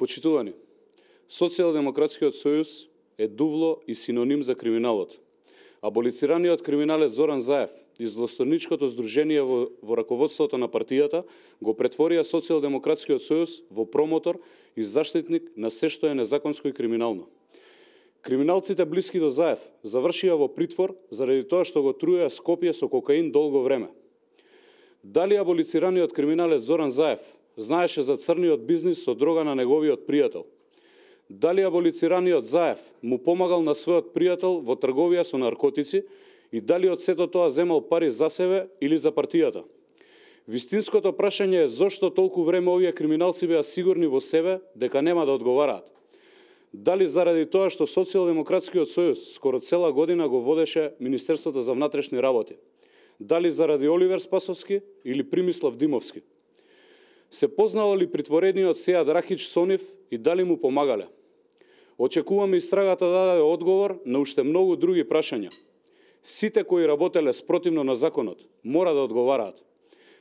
Почитувани, Социјалдемократскиот сојуз е дувло и синоним за криминалот. Аболицираниот криминалец Зоран Заев и злосторничкото здружение во раководството на партијата го претворија Социјалдемократскиот сојуз во промотор и заштитник на се што е незаконско и криминално. Криминалците блиски до Заев завршија во притвор заради тоа што го труеа Скопје со кокаин долго време. Дали аболицираниот криминалец Зоран Заев знаеше за црниот бизнис со дрога на неговиот пријател? Дали аболицираниот Заев му помагал на својот пријател во трговија со наркотици и дали од сето тоа земал пари за себе или за партијата? Вистинското прашање е зошто толку време овие криминалци беа сигурни во себе дека нема да одговараат. Дали заради тоа што Социјалдемократскиот сојуз скоро цела година го водеше Министерството за внатрешни работи? Дали заради Оливер Спасовски или Примислав Димовски? Се познало ли притворениот Сејад Ракич со нив и дали му помагале? Очекуваме истрагата да даде одговор на уште многу други прашања. Сите кои работеле спротивно на законот мора да одговараат.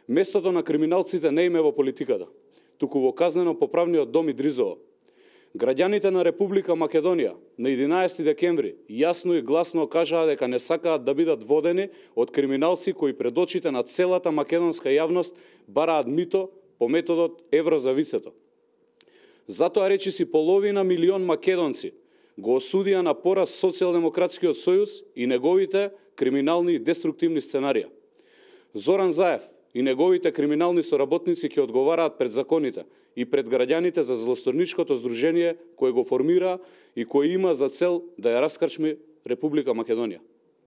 Местото на криминалците не им е во политиката, туку во казнено-поправниот дом Идризово. Граѓаните на Република Македонија на 11 декември јасно и гласно кажаа дека не сакаат да бидат водени од криминалци кои пред очите на целата македонска јавност бараат мито по методот евро за висето. Затоа речиси половина милион македонци го осудија на пораз Социјалдемократскиот сојуз и неговите криминални и деструктивни сценарија. Зоран Заев и неговите криминални соработници ќе одговараат пред законите и пред граѓаните за злосторничкото здружение кое го формира и кое има за цел да ја раскрчми Република Македонија.